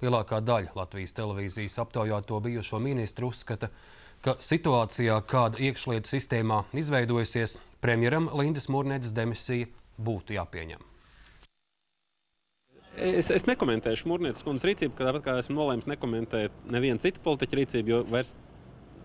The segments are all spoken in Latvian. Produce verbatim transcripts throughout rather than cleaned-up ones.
Lielākā daļa Latvijas televīzijas aptaujāto bijušo ministru uzskata, ka situācijā, kāda iekšlietu sistēmā izveidojusies, premjeram Lindas Murnedes demisija būtu jāpieņem. Es, es nekomentēšu Murnedes kundzes rīcību, tāpat kā esmu nolēmis nekomentēt nevienu citu politiķu rīcību, jo vairs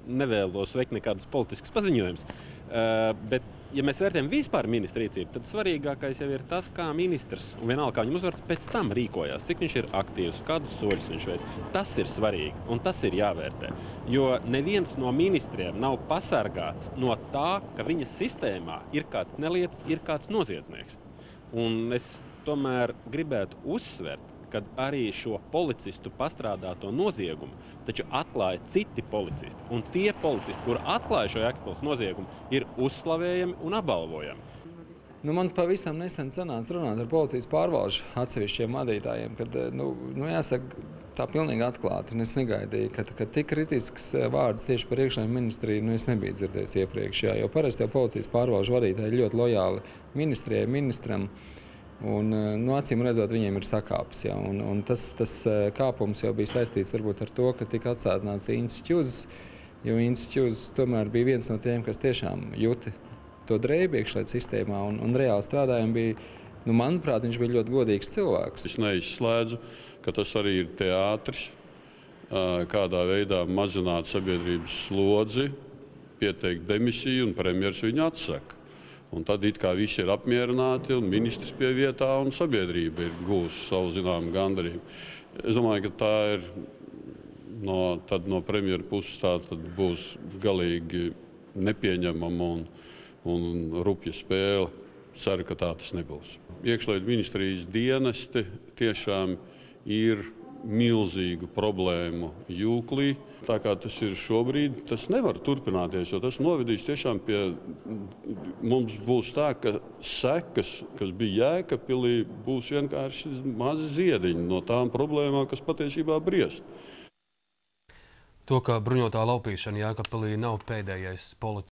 nevēlos veikt nekādas politiskas paziņojumus. Uh, bet, ja mēs vērtējam vispār ministra rīcību, tad svarīgākais jau ir tas, kā ministrs, un vienalga kā viņam uzvārds, pēc tam rīkojās, cik viņš ir aktīvs, kādus soļus viņš veic. Tas ir svarīgi, un tas ir jāvērtē. Jo neviens no ministriem nav pasargāts no tā, ka viņa sistēmā ir kāds neliets, ir kāds noziedznieks. Un es tomēr gribētu uzsvert, kad arī šo policistu pastrādāto noziegumu taču atklāja citi policisti. Un tie policisti, kuri atklāja šo Jēkabpils noziegumu, ir uzslavējami un apbalvojami. Nu, man pavisam nesen sanāca runāt ar policijas pārvalžu atsevišķiem vadītājiem, kad, nu, nu jāsaka, tā pilnīgi atklāti. Un es negaidīju, ka, ka tik kritisks vārds tieši par iekšlietu ministriju, nu, es nebiju dzirdējis iepriekš. Jā, jo parasti jau policijas pārvalžu vadītāji ļoti lojāli ministrijai, ministram. Un, nu, acīm redzot, viņiem ir sakāpes. Ja, un, un tas, tas kāpums jau bija saistīts varbūt ar to, ka tika atsēdināts Incis Ķuzs, jo Incis Ķuzs tomēr bija viens no tiem, kas tiešām juti to drēbi iekšlietu sistēmā un, un reāli strādājumi bija, nu, manuprāt, viņš bija ļoti godīgs cilvēks. Es neizslēdzu, ka tas arī ir teātris, kādā veidā mazināt sabiedrības slodzi, pieteikt demisiju un premjers viņu atsaka. Un tad it kā visi ir apmierināti, un ministrs pie vietā, un sabiedrība ir gūsi savu zināmu gandarījumu. Es domāju, ka tā ir no, tad no premjera puses tā tad būs galīgi nepieņemama un, un rupja spēle. Ceru, ka tā tas nebūs. Iekšlietu ministrijas dienesti tiešām ir milzīgu problēmu jūklī. Tā kā tas ir šobrīd, tas nevar turpināties, jo tas novedīs tiešām pie, mums būs tā, ka sekas, kas bija Jēkabpilī, būs vienkārši mazi ziediņi no tām problēmām, kas patiesībā briest. To, ka bruņotā laupīšana Jēkabpilī nav pēdējais policijas